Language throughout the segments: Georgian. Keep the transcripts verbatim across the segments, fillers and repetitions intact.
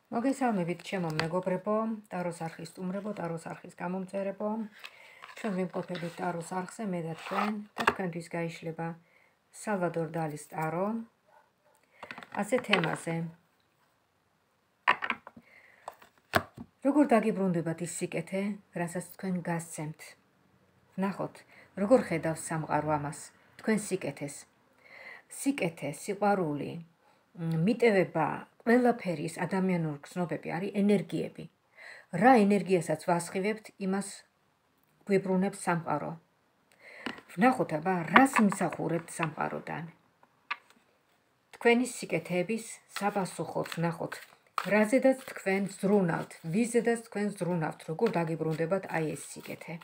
მოგესალმებით ჩემო მეგობრებო, ტაროს არხის სტუმრებო, ტაროს არხის გამომწერებო. ჩვენ ვიმყოფებით ტაროს არხზე, მე და თქვენ და თქვენთვის გაიშლება სალვადორ დალის ტარო. ასე თემაზე. როგორ დაგიბრუნდებათ ის სიკეთე, რასაც თქვენ გასცემთ? ნახოთ, როგორ ხედავს სამყარო ამას, თქვენ სიკეთეს. სიკეთე, სიყვარული, მიტევება, ყველაფერი ის ადამიანური გზნობები არის ენერგიები. რა ენერგიასაც ვასხივებთ, იმას გვიბრუნებს სამყარო. ვნახოთ აბა, რას იმსახურებთ სამყაროდან. თქვენი სიკეთეების საპასუხოდ ვნახოთ, რაზედაც თქვენ ზრუნავთ, ვიზედაც თქვენ ზრუნავთ, როგორ დაგიბრუნდებათ აი ეს სიკეთე.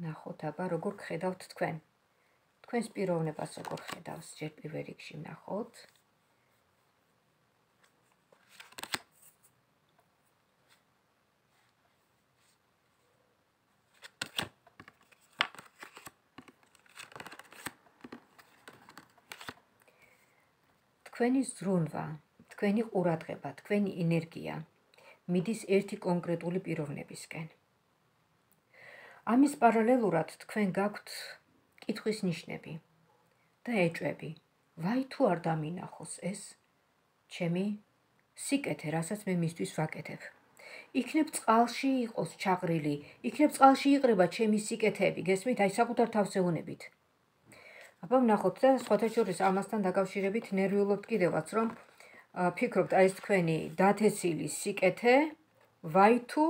ნახოთ აბა, როგორ ხედავთ თქვენ. თქვენს პიროვნებას როგორ ხედავს, ჯერ პირველ რიგში ვნახოთ. თქვენი ზრუნვა, თქვენი ყურადღება, თქვენი ენერგია მიდის ერთი კონკრეტული პიროვნებისკენ. ამის პარალელურად თქვენ გაქვთ კითხვის ნიშნები და ეჭვები. ვაი თუ არ დამინახოს ეს ჩემი სიკეთე, რასაც მე მისთვის ვაკეთებ. იქნებ წყალში იყოს ჩაყრილი, იქნებ წყალში იყრება ჩემი სიკეთეები, გესმით, აი საკუთარ თავს ეუნებით. აბა ვნახოთ და სხვათა შორის ამასთან დაკავშირებით ნერვიულობთ კიდევაც, რომ ფიქრობთ აი ეს თქვენი დათესილი სიკეთე, ვაი თუ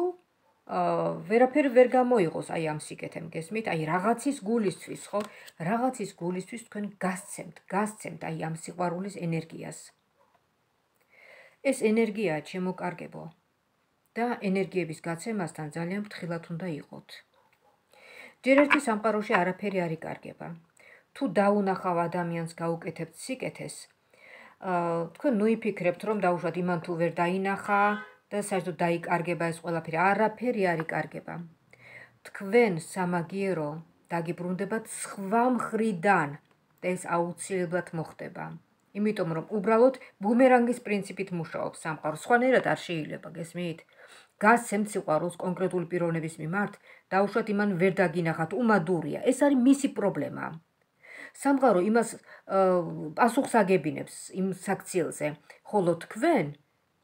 ვერაფერი ვერ გამოიღოს აი ამ სიკეთემ, გესმით, აი რაღაცის გულისთვის, ხო? რაღაცის გულისთვის თქვენ გასცემთ, გასცემთ აი ამ სიყვარულის ენერგიას. ეს ენერგიაა ჩემოკარგებო და ენერგიების გაცემასთან ძალიან ფრთხილად უნდა იყოთ. ჯერ ერთი სამყაროში არაფერი არ იკარგება. თუ დაუნახავ ადამიანს გაუკეთებთ სიკეთეს, თქვენ ნუ იფიქრებთ, რომ დაუშვათ იმან თუ ვერ დაინახა და საერთოდ დაიკარგება ეს ყველაფერი, არაფერი არ იკარგება. თქვენ სამაგიერო დაგიბრუნდებათ სხვა მხრიდან და ეს აუცილებლად მოხდება. იმიტომ რომ უბრალოდ ბუმერანგის პრინციპით მუშაობს სამყარო, სხვანაირად არ შეიძლება, გესმით? გასცემთ სიყვარულს კონკრეტული პიროვნების მიმართ, დაუშვათ იმან ვერ დაგინახათ, უმადურია. ეს არის მისი პრობლემა. სამყარო იმას პასუხს აგებინებს იმ საქციელზე, ხოლო თქვენ,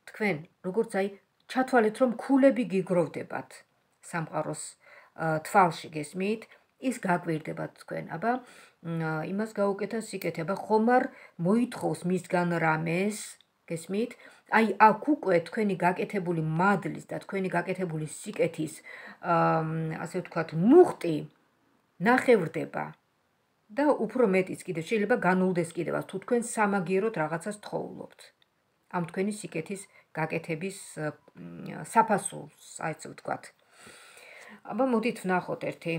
თქვენ, როგორც აი ჩათვალეთ, რომ ქულები გიგროვდებათ სამყაროს თვალში, გესმით? ის გაგვირდებათ თქვენ, აბა იმას გაუკეთა სიკეთე, აბა ხომ არ მოითხოვს მისგან რამეს, გესმით? აი აქ უკვე თქვენი გაკეთებული მადლის და თქვენი გაკეთებული სიკეთის, ასე ვთქვათ, მუხტი ნახევრდება. და უფრო მეტიც კიდევ შეიძლება განულდეს კიდევაც, თუ თქვენ სამაგიეროდ რაღაცას თხოვლობთ. ამ თქვენი სიკეთის გაკეთების საფასურს, აი ესე ვთქვათ. აბა მოდით ვნახოთ ერთი.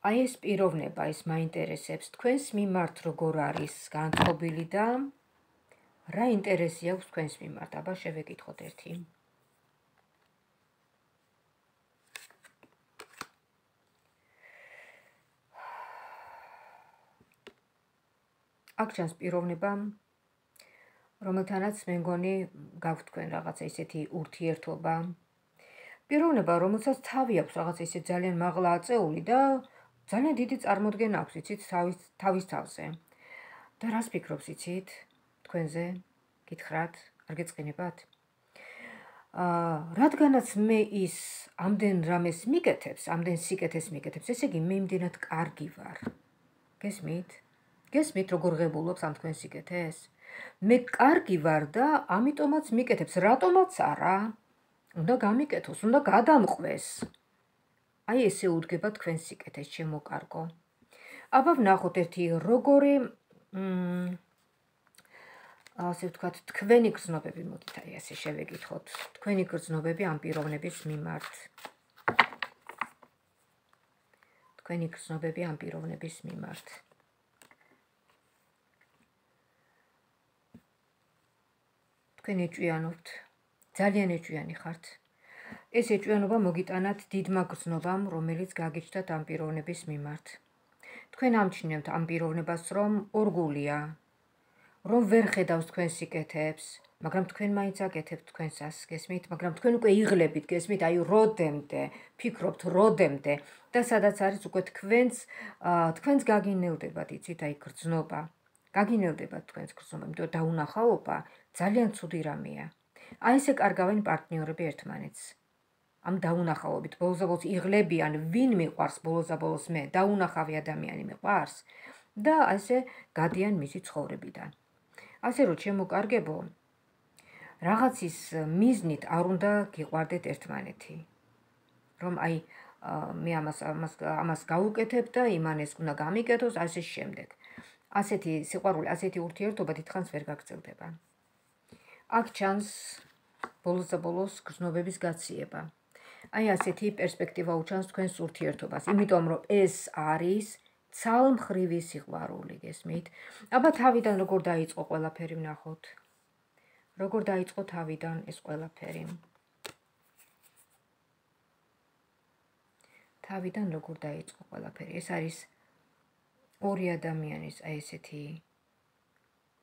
აი ეს პიროვნება, ეს მაინტერესებს თქვენს მიმართ როგორ არის განწყობილი და რა ინტერესი აქვს თქვენს მიმართ, აბა შევეკითხოთ ერთი. აქ ჩანს პიროვნება, რომელთანაც მე მგონი გაქვთ თქვენ რაღაცა ისეთი ურთიერთობა. პიროვნება, რომელსაც თავი აქვს რაღაცა ისე ძალიან მაღლა აწეული და ძალიან დიდი წარმოდგენა აქვს, იცით, თავის თავის თავზე. და რას ფიქრობს, იცით, თქვენზე? გითხრათ, არ გეწყინებათ? აა, რადგანაც მე ის ამდენ რამეს მიკეთებს, ამდენ სიკეთეს მიკეთებს, ესე იგი მე იმდენად კარგი ვარ. გესმით? გესმით, როგორ ღებულობს ამ თქვენ სიკეთეს? მე კარგი ვარ და ამიტომაც მიკეთებს, რატომაც არა? უნდა გამიკეთოს, უნდა გადამყვეს. აი ესე უდგება თქვენ სიკეთეს, ჩემო-კარგო. აბა ვნახოთ ერთი როგორი, ასე ვთქვათ, თქვენი გრძნობები, მოდით აი ასე შევეკითხოთ, თქვენი გრძნობები ამ პიროვნების მიმართ. თქვენი გრძნობები ამ პიროვნების მიმართ. თქვენ ეჭვიანობთ, ძალიან ეჭვიანი ხართ. ეს ეჭვიანობა მოგიტანათ დიდმა გრძნობამ, რომელიც გაგიჩნდათ ამ პიროვნების მიმართ. თქვენ ამჩნევთ ამ პიროვნებას, რომ ორგულია, რომ ვერ ხედავს თქვენ სიკეთეებს, მაგრამ თქვენ მაინც აკეთებთ თქვენსას, გესმით, მაგრამ თქვენ უკვე იღლებით, გესმით, აი როდემდე, ფიქრობთ როდემდე და სადაც არის უკვე თქვენს თქვენს გაგინელდებათ, იცით, აი გრძნობა. გაგინელდებათ თქვენს გრძნობა, იმიტომ დაუნახაობა ძალიან ცუდი რამეა. აი ესე კარგავენ პარტნიორები ერთმანეთს. ამ დაუნახაობით ბოლოს იღლებიან, ვინ მიყვარს ბოლოს მე, დაუნახავი ადამიანი მიყვარს და ასე გადიან მისი ცხოვრებიდან. ასე რომ შემოკარგებო, რაღაცის მიზნით არ უნდა გიყვარდეთ ერთმანეთი. რომ აი მე ამას ამას ამას გავუკეთებ და იმან ეს უნდა გამიკეთოს, ასე შემდეგ. ასეთი სიყვარული, ასეთი ურთიერთობა დიდხანს ვერ გაგრძელდება. აქ ჩანს ბოლოს და ბოლოს გრძნობების გაციება. აი ასეთი პერსპექტივა უჩანს თქვენს ურთიერთობას, იმიტომ რომ ეს არის ცალმხრივი სიყვარული, გესმით? აბა თავიდან როგორ დაიწყო ყველაფერი ვნახოთ. როგორ დაიწყო თავიდან ეს ყველაფერი? თავიდან როგორ დაიწყო ყველაფერი? ეს არის ორი ადამიანის აი ესეთი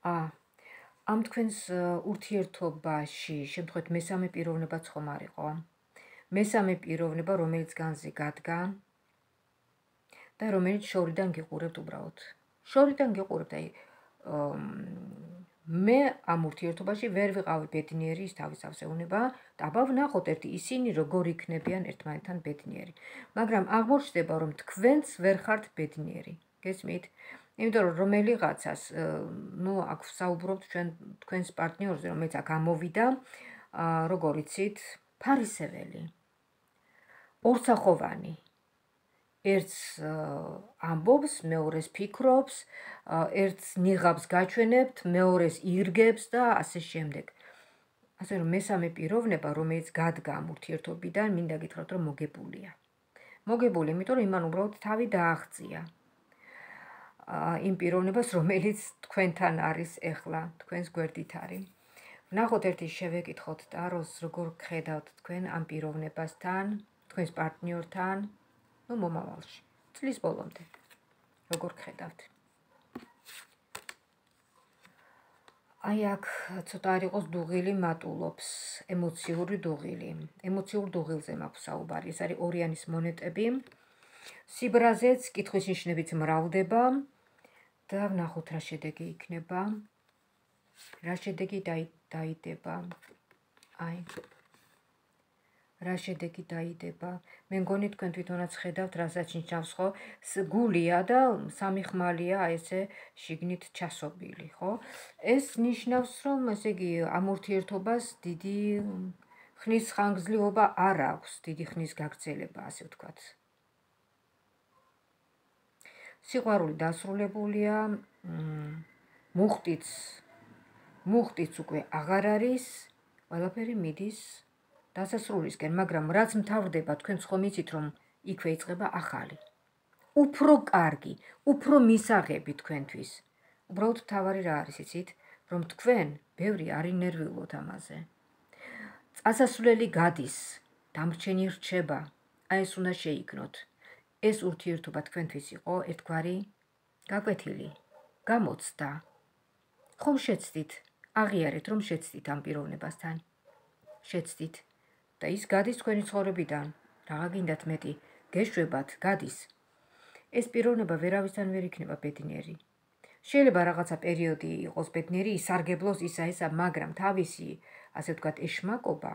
ა ამ თქვენს ურთიერთობაში შემთხვევით მესამე პიროვნებაც ხომ არ იყო? მესამე პიროვნება, რომელიც განზე გადგა და რომელიც შორიდან გიყურებთ უბრალოდ. შორიდან გიყურებთ, აი მე ამ ურთიერთობაში ვერ ვიყავი ბედნიერი, ის თავის ავსეუნება და აბა ვნახოთ ერთი ისინი როგორ იქნებიან ერთმანეთთან ბედნიერი. მაგრამ აღმოჩნდება, რომ თქვენც ვერ ხართ ბედნიერი. გესმით? იმიტომ რომ რომელიღაცას, ნუ აქ ვსაუბრობთ ჩვენ თქვენს პარტნიორზე, რომელიც აქ ამოვიდა, როგორ იცით, ფარისეველი, ორსახოვანი. ერთს ამბობს, მეორეს ფიქრობს, ერთს ნიღაბს გაჩვენებთ, მეორეს ირგებს და ასე შემდეგ. ასე რომ მესამე პიროვნება, რომელიც გადგა ამ ურთიერთობიდან, მინდა გითხრათ, რომ მოგებულია. მოგებული, იმიტომ რომ იმან უბრალოდ თავი დააღწია. იმ პიროვნებას, რომელიც თქვენთან არის ეხლა, თქვენს გვერდით არის. ვნახოთ ერთი შევეკითხოთ ტაროს, როგორ ხედავთ თქვენ ამ პიროვნებასთან, თქვენს პარტნიორთან, ნუ მომავალში, წლის ბოლომდე. როგორ ხედავთ? აი აქ ცოტა არ იყოს დუღილი მატულობს, ემოციური დუღილი. ემოციურ დუღილზე მაქვს საუბარი. ეს არის ორიანის მონეტები. სიბრაზეც კითხვის ნიშნებიც მრავლდება და ვნახოთ რა შედეგი იქნება. რა შედეგი დაიდება. აი რა შედეგი დაიდება. მე მგონი თქვენ თვითონაც ხედავთ, რასაც ნიშნავს, ხო? გულია და სამი ხმალია ესე შიგნით ჩასობილი, ხო? ეს ნიშნავს, რომ ესე იგი ამ ურთიერთობას დიდი ხნის ხანგრძლივობა არ აქვს, დიდი ხნის გაგრძელება, ასე ვთქვათ. სიყვარული დასრულებულია, მუხტიც მუხტიც უკვე აღარ არის, ყველაფერი მიდის დასასრულისკენ, მაგრამ რაც მთავრდება, თქვენ ხომ იცით, რომ იქვე იწყება ახალი. უფრო კარგი, უფრო მისაღები თქვენთვის. უბრალოდ მთავარი რა არის, იცით, რომ თქვენ ბევრი არ ინერვიულოთ ამაზე. წასასვლელი გადის, დამრჩენი რჩება, აი ეს უნდა შეიქნოთ. ეს ურთიერთობა თქვენთვის იყო ერთგვარი გაკვეთილი, გამოცდა. ხომ შეცდით, აღიარეთ, რომ შეცდით ამ პიროვნებასთან. შეცდით. და ის გადის თქვენი ცხოვრებიდან, რაღა გინდათ მეტი, გეშვებათ, გადის. ეს პიროვნება ვერავისთან ვერ იქნება ბედნიერი. შეიძლება რაღაცა პერიოდი იყოს ბედნიერი, ისარგებლოს ისა ისა, მაგრამ თავისი, ასე ვთქვათ, ეშმაკობა,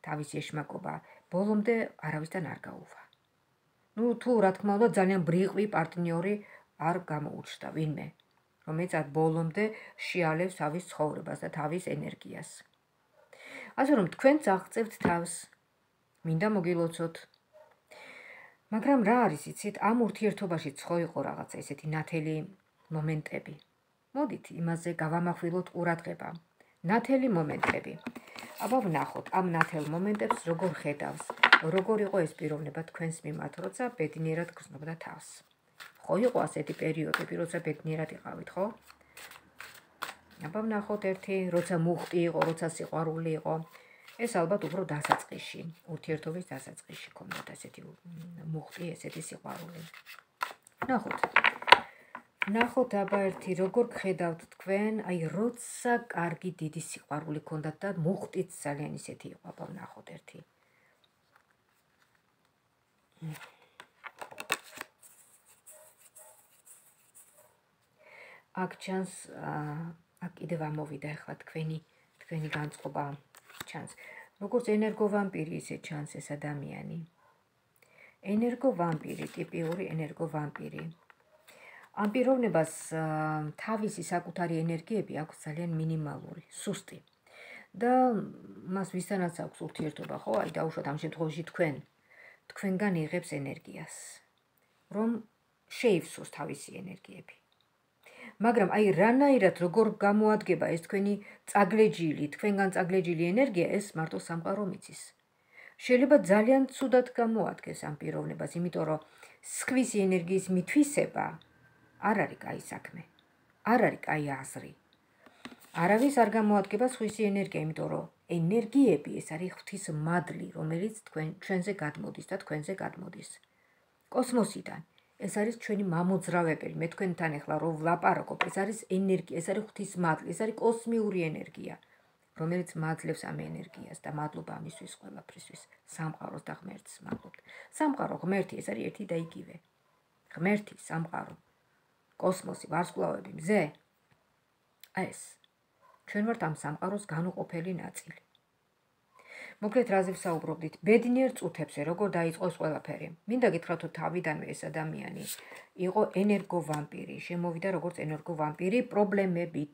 თავისი ეშმაკობა ბოლომდე არავისთან არ გაუვა. ნუ თუ რა თქმა უნდა ძალიან ბრიყვი პარტნიორი არ გამოუჩნდა ვინმე, რომელიც არ ბოლომდე შეალევს თავის ცხოვრებას და თავის ენერგიას. ასე რომ თქვენც აღწევთ თავს, მინდა მოგილოცოთ. მაგრამ რა არის, იცით, ამ ურთიერთობაშიც ხო იყო რაღაცა ესეთი ნათელი მომენტები. მოდით იმაზე გავამახვილოთ ყურადღება. ნათელი მომენტები. აბა ვნახოთ ამ ნათელ მომენტებს როგორ ხედავს, როგორ იყო ეს პიროვნება თქვენს მიმართ, როცა ბედნიერად გრძნობდა თავს. ხო იყო ასეთი პერიოდები, როცა ბედნიერად იყავით, ხო? აბა ვნახოთ ერთი, როცა მუხტი იყო, როცა სიყვარული იყო. ეს ალბათ უფრო დასაწყისში, ურთიერთობის დასაწყისში ქონდათ ესეთი მუხტი, ესეთი სიყვარული. ვნახოთ. ვნახოთ აბა ერთი, როგორ გხედავთ თქვენ, აი როცა კარგი დიდი სიყვარული ქონდათ და მუხტიც ძალიან ისეთი იყო, აბა ვნახოთ ერთი. აქ ჩანს, აქ კიდევ ამოვიდა ახლა თქვენი თქვენი განწყობა ჩანს. როგორც ენერგოვამპირი ისე ჩანს ეს ადამიანი. ენერგოვამპირი, ტიპიური ენერგოვამპირი. ამ პიროვნებას თავისი საკუთარი ენერგიები აქვს ძალიან მინიმალური, სუსტი. და მას ვისთანაც აქვს ურთიერთობა, ხო? აი დაუშვათ ამ შემთხვევაში თქვენ. თქვენგან იღებს ენერგიას, რომ შეივსოს თავისი ენერგიები. მაგრამ აი რანაირად როგორ გამოადგება ეს თქვენი წაგლეჯილი, თქვენგან წაგლეჯილი ენერგია, ეს მარტო სამყარო მიცის. შეიძლება ძალიან ცუდად გამოადგეს ამ პიროვნებას, იმიტომ რომ სხვისი ენერგიის მithვისება არ არის კაი საქმე. არ არის კაი აზრი. არავის არ გამოადგება სხვისი ენერგია, იმიტომ რომ ენერგიები ეს არის ღვთის მადლი, რომელიც თქვენ ჩვენზე გადმოდის და თქვენზე გადმოდის. კოსმოსიდან. ეს არის ჩვენი მამოძრავებელი, მე თქვენთან ახლა რო ვლაპარაკობ, ეს არის ენერგია, ეს არის ღვთის მადლი, ეს არის კოსმიური ენერგია, რომელიც მაძლევს ამ ენერგიას და მადლობა ამისთვის ყველაფრისთვის, სამყაროს და ღმერთს მადლობთ. სამყარო, ღმერთი, ეს არის ერთი და იგივე. ღმერთი, სამყარო, კოსმოსი, ვარსკვლავები, მზე. აი ეს. ჩვენ ვართ ამ სამყაროს განუყოფელი ნაწილი. მოკლედ რაზე ვსაუბრობდით? ბედნიერ წუთებზე, როგორ დაიწყო ეს ყველაფერი. მინდა გითხრათ, რომ თავიდანვე ეს ადამიანი იყო ენერგოვამპირი, შემოვიდა როგორც ენერგოვამპირი პრობლემებით,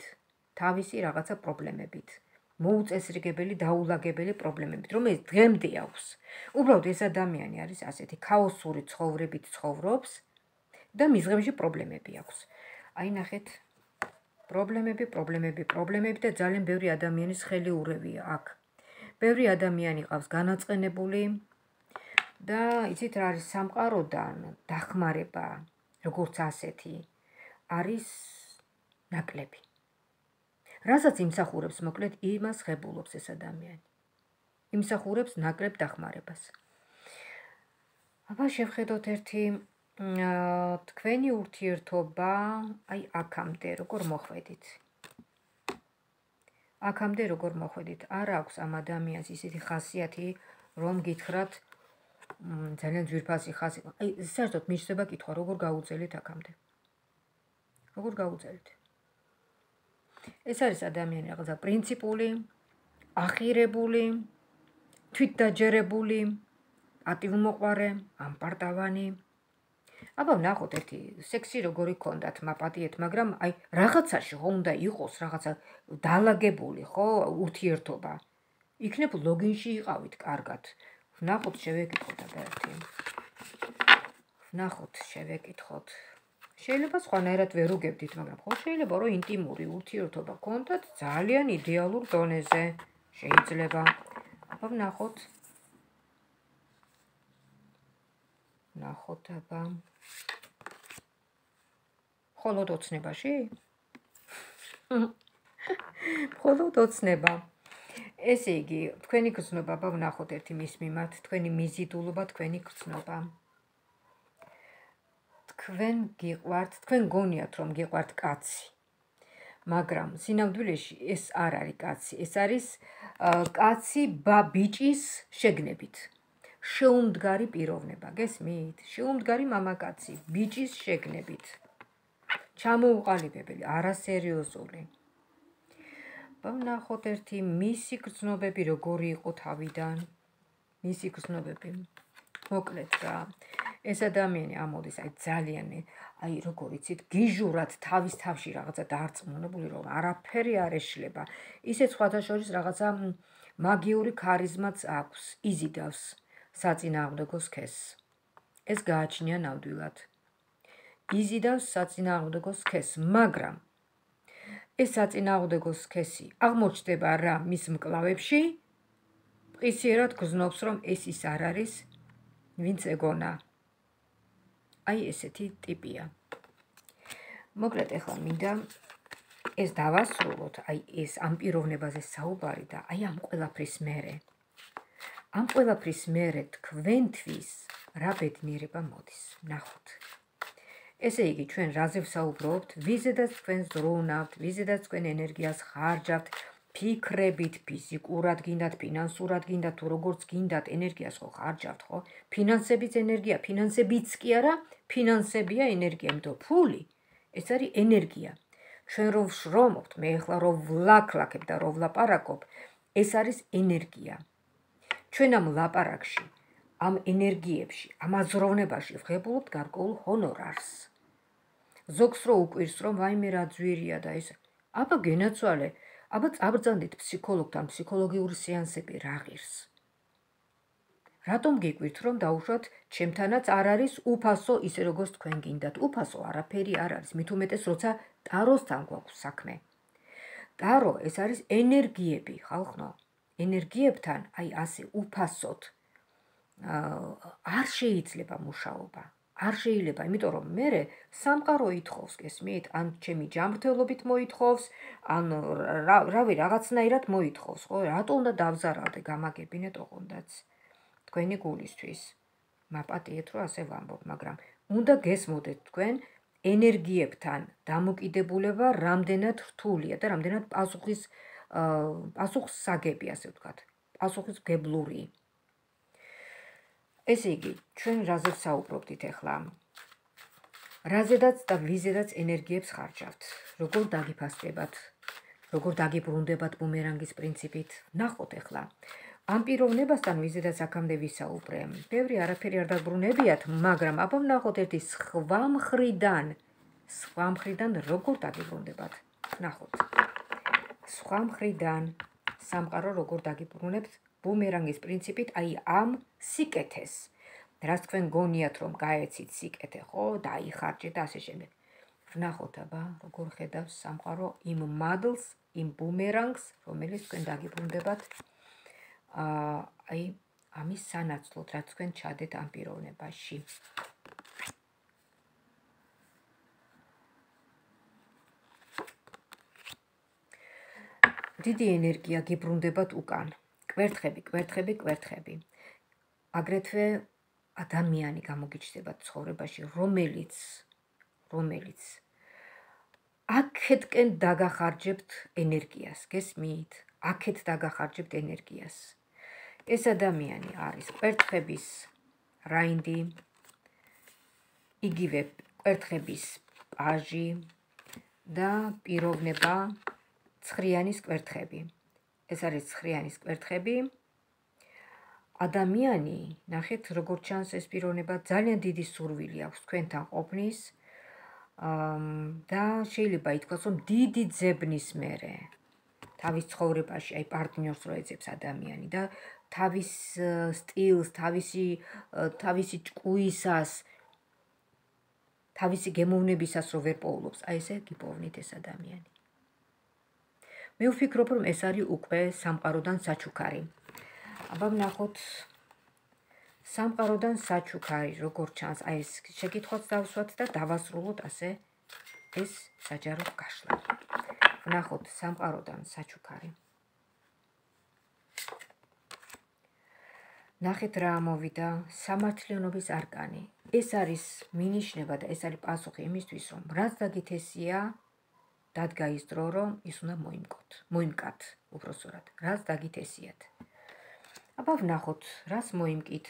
თავისი რაღაცა პრობლემებით, მოუწესრიგებელი, დაულაგებელი პრობლემებით, რომელიც დღემდე აქვს. უბრალოდ ეს ადამიანი არის ასეთი ქაოსური ცხოვრებით ცხოვრობს და მის დღემში პრობლემები აქვს. აი ნახეთ, პრობლემები, პრობლემები, პრობლემები და ძალიან ბევრი ადამიანის ხელი ურევია აქ. ბევრი ადამიანი ყავს განაწყენებული და იცით რა არის სამყაროდან დახმარება, როგორც ასეთი, არის ნაკლები. რასაც იმსახურებს, მოკლედ იმას ღებულობს ეს ადამიანი. იმსახურებს ნაკლებ დახმარებას. აბა შევხედოთ ერთი თქვენი ურთიერთობა, აი აქამდე როგორ მოხვედით. აქამდე როგორ მოხვედით, არ აქვს ამ ადამიანს ისეთი ხასიათი, რომ გითხრათ ძალიან ძვირფასი ხასიათი. აი საერთოდ მიჩნდება კითხვა, როგორ გაუძელით აქამდე. როგორ გაუძელით. ეს არის ადამიანი რაღაცა პრინციპული, ახირებული, თვითდაჯერებული, პატივმოყვარე, ამპარტავანი. აბა ვნახოთ ერთი სექსი როგორი ქონდათ მაპატიეთ, მაგრამ აი რაღაცაში ხო უნდა იყოს რაღაცა დალაგებული, ხო, ურთიერთობა. იქნებ ლოგინში იყავით კარგად. ვნახოთ, შევეკითხოთ აბა ერთი. ვნახოთ, შევეკითხოთ. შეიძლება სხვანაირად ვერ უგებდით, მაგრამ ხო შეიძლება რომ ინტიმური ურთიერთობა ქონდათ ძალიან იდეალურ დონეზე. შეიძლება. აბა ვნახოთ. ვნახოთ აბა. მხოლოდ ოცნებაში? მხოლოდ ოცნება. ესე იგი, თქვენი გრძნობა, აბა ვნახოთ ერთი მის მიმართ, თქვენი მიზიდულობა, თქვენი გრძნობა. თქვენ გიყვართ, თქვენ გონიათ რომ გიყვართ კაცი. მაგრამ სინამდვილეში ეს არ არის კაცი, ეს არის კაცი ბიჭის შეგნებით. შეუმდგარი პიროვნება, გესმით? შეუმდგარი მამაკაცი, ბიჭის შეგნებით. ჩამოუყალიბებელი, არასერიოზული. ვნახოთ ერთი მისი გრძნობები როგორი იყო თავიდან. მისი გრძნობები. მოკლედ რა. ეს ადამიანი ამოდის აი ძალიან აი როგორ იცით გიჟურად თავის თავში რაღაცა დაარწმუნებული რომ არაფერი არ ეშლება. ისე სხვათა შორის რაღაცა მაგიური ქარიზმაც აქვს, იზიდავს საწინააღმდეგო სქესს. ეს გააჩნია ნამდვილად. იზიდავს საწინააღმდეგო სქესს, მაგრამ ეს საწინააღმდეგო სქესი აღმოჩნდება რა მის მკლავებში, მყისიერად გრძნობს რომ ეს ის არ არის, ვინც ეგონა. აი ესეთი ტიპია. მოკლედ ახლა მინდა ეს დავასრულოთ, აი ეს ამ პიროვნებაზე საუბარი და აი ამ ყველაფრის მერე. ამ ყველაფრის მერე თქვენთვის რა ბედნიერება მოდის, ნახოთ. ესე იგი, ჩვენ რაზე ვსაუბრობთ, ვიზედაც თქვენ ზრუნავთ, ვიზედაც თქვენ ენერგიას ხარჯავთ, ფიქრებით, ფიზიკურად გინდათ, ფინანსურად გინდათ, თუ როგორც გინდათ, ენერგიას ხო ხარჯავთ, ხო? ფინანსებიც ენერგია, ფინანსებიც კი არა, ფინანსებია ენერგია, იმიტომ ფული ეს არის ენერგია. ჩვენ რომ ვშრომობთ, მე ახლა რომ ვლაქლაქებ და რომ ვლაპარაკობ, ეს არის ენერგია. ჩვენ ამ ლაპარაკში, ამ ენერგიებში, ამ აზროვნებაში ვღებულობთ გარკვეულ ჰონორარს. ზოგს რო უკვირს, რომ ვაიმე რა ძვირია და ეს, აბა გენაცვალე, აბა წაბრძანდით ფსიქოლოგთან, ფსიქოლოგიური სეანსები რა ღირს. რატომ გიკვირთ, რომ დაუშვათ, ჩემთანაც არ არის უფასო ისე როგორც თქვენ გინდათ. უფასო არაფერი არ არის, მით უმეტეს როცა ტაროსთან გვაქვს საქმე. ტარო ეს არის ენერგიები, ხალხო. ენერგიებთან აი ასე უფასოდ არ შეიძლება მუშაობა. არ შეიძლება, იმიტომ რომ მე სამყარო ითხოვს, გესმით? ან ჩემი ჯანმრთელობით მოითხოვს, ან რავი რაღაცნაირად მოითხოვს, ხო? რატო უნდა დავზარავდე, გამაგებინეთ ოღონდაც თქვენი გულისთვის. მაპატიეთ, რომ ასე ვამბობ, მაგრამ უნდა გესმოდეთ თქვენ ენერგიებთან დამოკიდებულება რამდენად რთულია და რამდენად პასუხის პასუხსაგები, ასე ვთქვათ, პასუხისმგებლური. ესე იგი, ჩვენ რაზე ვსაუბრობდით ახლა? რაზედაც და ვიზედაც ენერგიებს ხარჯავთ. როგორ დაგიფასდებათ, როგორ დაგიბრუნდებათ ბუმერანგის პრინციპით. ნახოთ ახლა. ამ პიროვნებასთან ვიზედაც აქამდე ვისაუბრე. ბევრი არაფერი არ დაბრუნებიათ, მაგრამ აბა ვნახოთ ერთი სხვა მხრიდან, სხვა მხრიდან როგორ დაგიბრუნდებათ. ნახოთ. სხვა მხრიდან სამყარო როგორ დაგიბრუნებთ ბუმერანგის პრინციპით, აი ამ სიკეთეს. რაც თქვენ გონიათ, რომ გაეცით სიკეთე, ხო, დაიხარჯეთ და ასე შემდეგ. ვნახოთ აბა, როგორ ხედავს სამყარო იმ მადლს, იმ ბუმერანგს, რომელიც თქვენ დაგიბრუნდებათ აი ამის სანაცვლოდ, რაც თქვენ ჩადეთ ამ პიროვნებაში. დიდი ენერგია გიბრუნდებათ უკან. კვერთხები, კვერთხები, კვერთხები. აგრეთვე ადამიანი გამოგიჩნდებათ ცხოვრებაში, რომელიც რომელიც აქეთკენ დაგახარჯებთ ენერგიას, გესმით? აქეთ დაგახარჯებთ ენერგიას. ეს ადამიანი არის კვერთხების რაინდი, იგივე კვერთხების პაჟი და პიროვნება ცხრიანის კვერთხები. ეს არის ცხრიანის კვერთხები. ადამიანი, ნახეთ, როგორ ჩანს ეს პიროვნება, ძალიან დიდი სურვილი აქვს თქვენთან ყოფნის და შეიძლება ითქვას, რომ დიდი ძებნის მერე თავის ცხოვრებაში, აი პარტნიორს რო ეძებს ადამიანი და თავის სტილს, თავისი თავისი ჭკუისას, თავისი გემოვნებისას რო ვერ პოულობს, აი ესე გიპოვნით ეს ადამიანი. მე ვფიქრობ, რომ ეს არის უკვე სამყაროდან საჩუქარი. აბა ვნახოთ სამყაროდან საჩუქარი, როგორ ჩანს, აი ეს შეკითხვაც დავსვათ და დავასრულოთ ასე ეს საჯარო გაშლა. ვნახოთ სამყაროდან საჩუქარი. ნახეთ რა ამოვიდა, სამართლიანობის არკანი. ეს არის მინიშნება და ეს არის პასუხი იმისთვის, რომ რაც დაგითესია, დადგა ის დრო, რომ ის უნდა მოიმკოთ, მოიმკათ, უბრალოდ, რაც დაგითესიათ. აბა ვნახოთ, რას მოიმკით.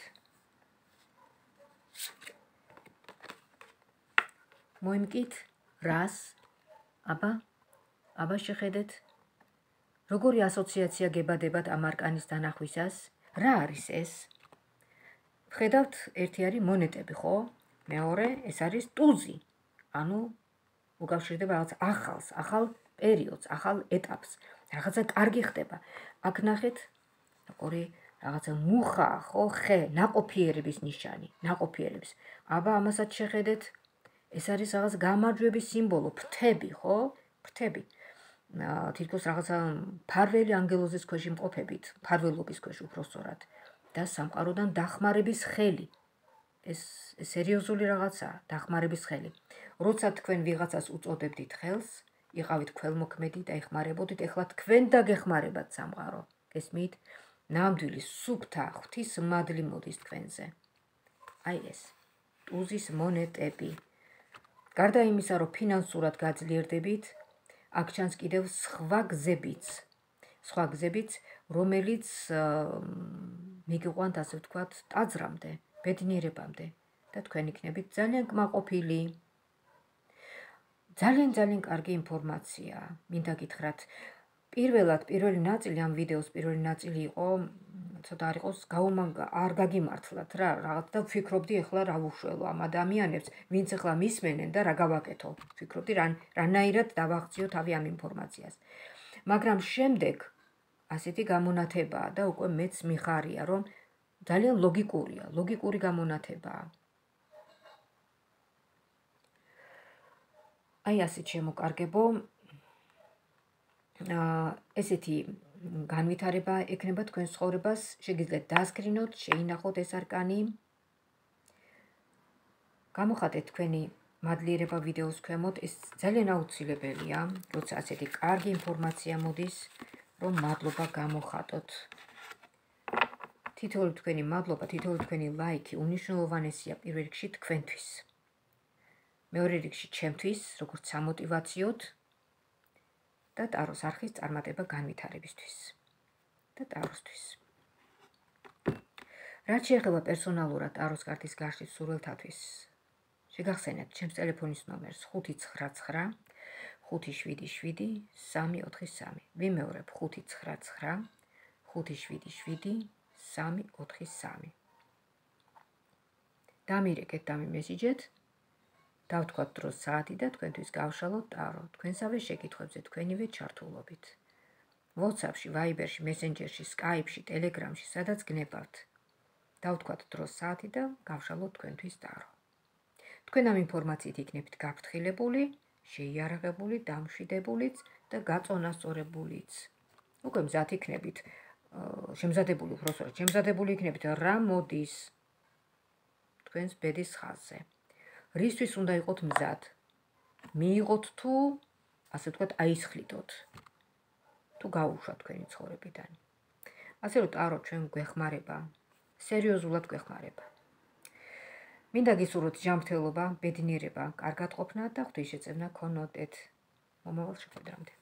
მოიმკით რას? აბა, აბა შეხედეთ, როგორი ასოციაცია გებადებათ ამ არკანის დანახვისას? რა არის ეს? ვხედავთ, ერთი არის მონეტები, ხო? მეორე, ეს არის ტუზი. ანუ უკავშირდება რაღაც ახალს, ახალ პერიოდს, ახალ ეტაპს. რაღაცა კარგი ხდება. აქ ნახეთ, ორი რაღაცა მუხა, ხო, ხე, ნაყოფიერების ნიშანი, ნაყოფიერების. აბა ამასაც შეხედეთ, ეს არის რაღაც გამარჯვების სიმბოლო, ფრთები, ხო? ფრთები. თითქოს რაღაცა ფარველი ანგელოზის ქვეშ იმყოფებით, ფარველობის ქვეშ უბრალოდ და სამყაროდან დახმარების ხელი. ეს სერიოზული რაღაცაა, დახმარების ხელი. როცა თქვენ ვიღაცას უწოდებდით ხელს, იყავით ქველმოქმედი და ეხმარებოდით, ეხლა თქვენ დაგეხმარებათ სამყარო. გესმით? ნამდვილი სუფთა ღვთის მადლი მოდის თქვენზე. აი ეს ტუზის მონეტები. გარდა იმისა, რომ ფინანსურად გაძლიერდებით, აქ ჩანს კიდევ სხვა გზებიც. სხვა გზებიც, რომელიც მიგიყვანთ, ასე ვთქვათ, ტაძრამდე, ბედნიერებამდე და თქვენ იქნებით ძალიან კმაყოფილი. ძალიან ძალიან კარგი ინფორმაცია. მინდა გითხრათ, პირველად პირველი ნაწილი ამ ვიდეოს პირველი ნაწილი იყო, ცოტა არ იყოს არ გაგიმართლათ რა, რაღაც და ვფიქრობდი ახლა რა ვუშველო ამ ადამიანებს, ვინც ახლა მისმენენ და რა გავაკეთო. ვფიქრობდი რანაირად დავაღწიო თავი ამ ინფორმაციას. მაგრამ შემდეგ ასეთი გამონათებაა და უკვე მეც მიხარია, რომ ძალიან ლოგიკურია, ლოგიკური გამონათებაა. აი ასეთ შემოკარგებო, ესეთი განვითარება ექნება თქვენ ცხოვრებას, შეგიძლიათ დასკრინოთ, შეინახოთ ეს არკანი. გამოხატეთ თქვენი მადლიერება ვიდეოს ქვემოთ, ეს ძალიან აუცილებელია, როცა ასეთი კარგი ინფორმაცია მოდის, რომ მადლობა გამოხატოთ. თითოეული თქვენი მადლობა, თითოეული თქვენი ლაიქი უნიშნულოვანესია პირველ რიგში თქვენთვის. მეორე რიგში ჩემთვის, როგორც სამოტივაციოდ და ტაროს არხის წარმატება განვითარებისთვის და ტაროსთვის. რაც შეეხება პერსონალურად ტაროს კარტის გაშლის სურვილთათვის, შეგახსენებთ ჩემს ტელეფონის ნომერს ხუთი ცხრა ცხრა ხუთი შვიდი შვიდი სამი ოთხი სამი. ვიმეორებ ხუთი ცხრა ცხრა ხუთი შვიდი შვიდი სამი ოთხი სამი. დამირეკეთ და მიმესიჯეთ. დავთქვათ დროს საათი და თქვენთვის გავშალოთ ტარო. თქვენსავე შეკითხვებზე თქვენივე ჩართულობით. WhatsApp-ში, Viber-ში, Messenger-ში, Skype-ში, Telegram-ში, სადაც გნებავთ. დავთქვათ დროს საათი და გავშალოთ თქვენთვის ტარო. თქვენ ამ ინფორმაციით იქნებით გაფრთხილებული, შეიარაღებული, დამშვიდებულიც და გაწონასწორებულიც. უკვე მზად იქნებით, შემზადებული უბრალოდ, შემზადებული იქნებით რა მოდის თქვენს ბედის ხაზზე. რისთვის უნდა იყოთ მზად? მიიღოთ თუ, ასე ვთქვათ, აისხლიდოთ. თუ გაუშვათ თქვენი ცხოვრებიდან. ასე რომ ტარო ჩვენ გვეხმარება, სერიოზულად გვეხმარება. მინდა გისურვოთ ჯანმრთელობა, ბედნიერება, კარგად ყოფნა და ღვთისშეწევნა გქონოდეთ. მომავალ შეხვედრამდე.